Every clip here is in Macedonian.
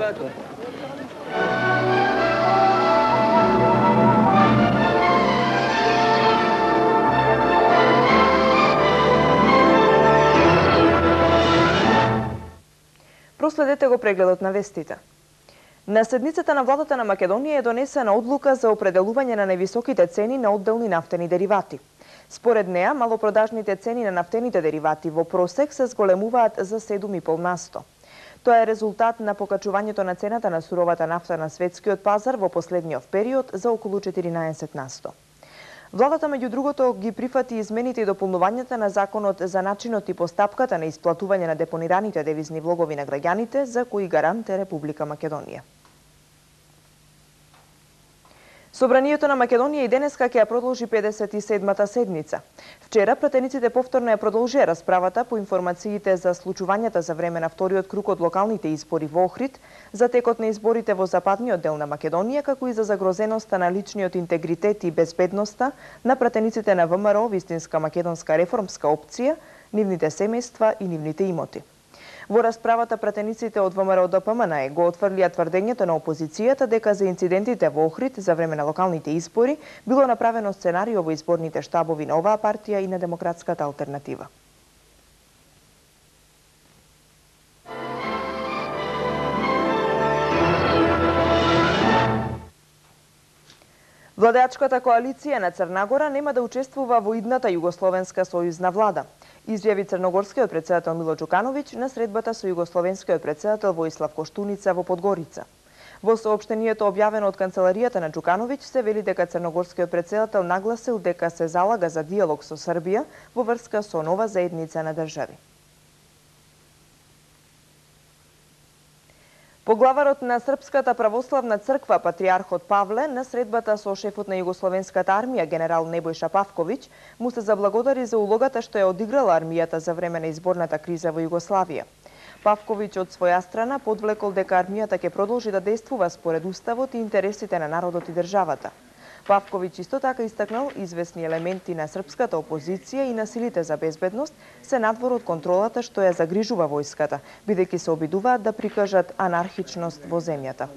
елеватор. Проследете го прегледот на вестите. На седницата на владата на Македонија е донесена одлука за определување на највисоките цени на одделни нафтени деривати. Според неа, малопродажните цени на нафтените деривати во просек се зголемуваат за 7,5%. Тоа е резултат на покачувањето на цената на суровата нафта на светскиот пазар во последниот период за околу 14%. Владата, меѓу другото, ги прифати измените и дополнувањата на законот за начинот и постапката на исплатување на депонираните девизни влогови на граѓаните, за кои гарант е Република Македонија. Собранието на Македонија и денеска ќе ја продолжи 57-та седница. Вчера пратениците повторно ја продолжија расправата по информациите за случувањата за време на вториот круг од локалните избори во Охрид, за текот на изборите во западниот дел на Македонија, како и за загрозеноста на личниот интегритет и безбедноста на пратениците на ВМРО, вистинска македонска реформска опција, нивните семејства и нивните имоти. Во расправата пратениците од ВМРО-ДПМН го отфрлија тврдењето на опозицијата дека за инцидентите во Охрид за време на локалните избори било направено сценарио во изборните штабови на оваа партија и на Демократската алтернатива. Владеачката коалиција на Црна Гора нема да учествува во идната југословенска сојузна влада, изјави црногорскиот претседател Мило Џукановиќ на средбата со југословенскиот претседател Воислав Коштуница во Подгорица. Во соопштението објавено од канцеларијата на Џукановиќ се вели дека црногорскиот претседател нагласил дека се залага за диалог со Србија во врска со нова заедница на држави. Поглаварот на Српската православна црква, патриархот Павле, на средбата со шефот на југословенската армија, генерал Небојша Павковиќ, му се заблагодари за улогата што ја одиграла армијата за време на изборната криза во Југославија. Павковиќ од своја страна подвлекол дека армијата ќе продолжи да действува според уставот и интересите на народот и државата. Павковиќ исто така истакнал известни елементи на српската опозиција и на силите за безбедност се надвор од контролата што ја загрижува војската, бидејќи се обидуваат да прикажат анархичност во земјата.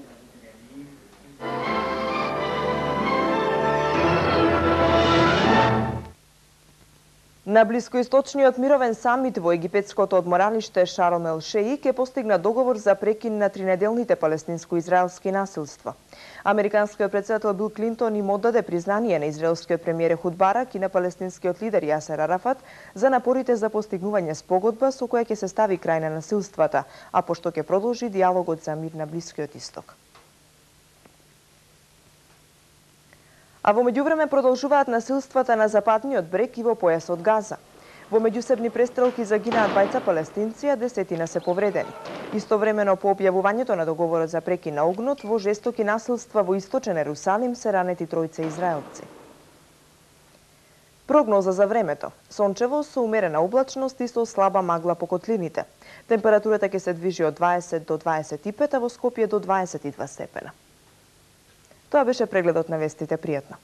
На блискоисточниот мировен самит во египетското одморалиште Шарм ел Шеик е постигнат договор за прекин на тринеделните палестинско-израелски насилства. Американскиот претседател Бил Клинтон им оддаде признание на израелскиот премиер Ехуд Барак и на палестинскиот лидер Јасер Арафат за напорите за постигнување спогодба со која ќе се стави крај на насилствата, а пошто ќе продолжи диалогот за мир на Блискиот исток. А во меѓувреме продолжуваат насилствата на западниот брег и во појасот Газа. Во меѓусебни престрелки загинаа двајца палестинци, а десетина се повредени. Истовремено по објавувањето на договорот за прекин на огнот, во жестоки насилства во источен Ерусалим се ранети тројца израелци. Прогноза за времето. Сончево со умерена облачност и со слаба магла по котлините. Температурата ќе се движи од 20 до 25, а во Скопје до 22 степена. Тоа беше прегледот на вестите. Пријатно.